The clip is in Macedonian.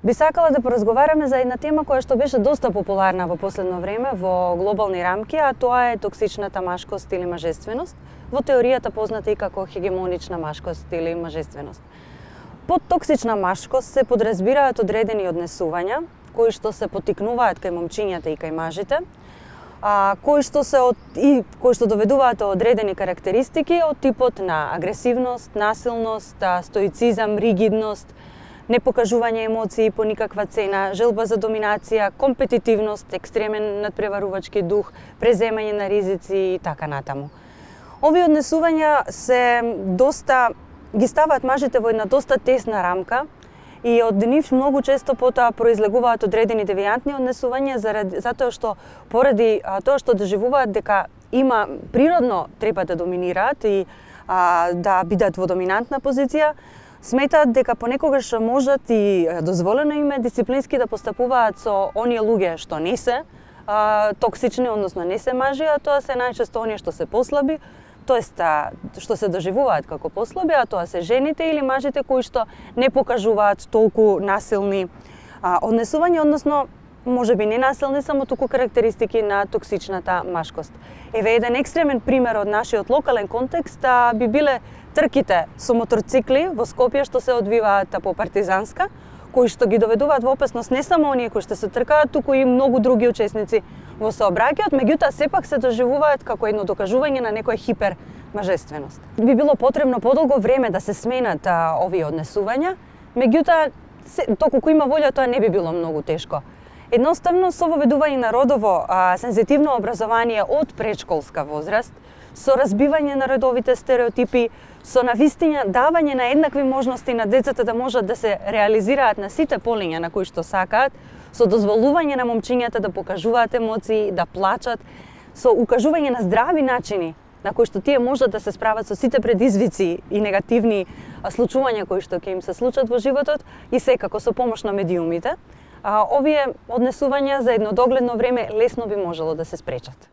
Би сакала да поразговараме за една тема која што беше доста популарна во последно време во глобални рамки, а тоа е токсичната машкост или мажественост, во теоријата позната и како хегемонична машкост или мажественост. Под токсична машкост се подразбираат одредени однесувања кои што се поттикнуваат кај момчињата и кај мажите, кои што доведуваат до одредени карактеристики од типот на агресивност, насилност, стоицизам, ригидност, непокажување емоции по никаква цена, желба за доминација, компетитивност, екстремен надпреварувачки дух, преземање на ризици и така натаму. Овие однесувања ги ставаат мажите во една доста тесна рамка и од нив многу често потоа произлегуваат одредени девијантни однесувања затоа што поради тоа што доживуваат дека природно треба да доминираат и да бидат во доминантна позиција, сметаат дека понекогаш можат и дозволено им е дисциплински да постапуваат со оние луѓе што не се токсични, односно не се мажи, а тоа се најчесто оние што се послаби, тоест што се доживуваат како послаби, а тоа се жените или мажите кои што не покажуваат толку насилни однесувања, односно можеби не насилни, само туку карактеристики на токсичната машкост. Еве еден екстремен пример од нашиот локален контекст би биле трките со моторцикли во Скопје што се одвиваат по Партизанска, кои што ги доведуваат во опасност не само оние кои што се тркаат, туку и многу други учесници во сообраќајот, меѓутоа сепак се доживуваат како едно докажување на некоја хипермажественост. Би било потребно подолго време да се сменат овие однесувања, меѓутоа доколку има волја тоа не би било многу тешко. Едноставно со воведување на родово сензитивно образование од предшколска возраст, со разбивање на родовите стереотипи, со навистина давање на еднакви можности на децата да можат да се реализираат на сите полиња на кои што сакаат, со дозволување на момчињата да покажуваат емоции, да плачат, со укажување на здрави начини на кои што тие можат да се справат со сите предизвици и негативни случувања кои што ќе им се случат во животот и секако со помош на медиумите, овие однесувања за едно догледно време лесно би можело да се спречат.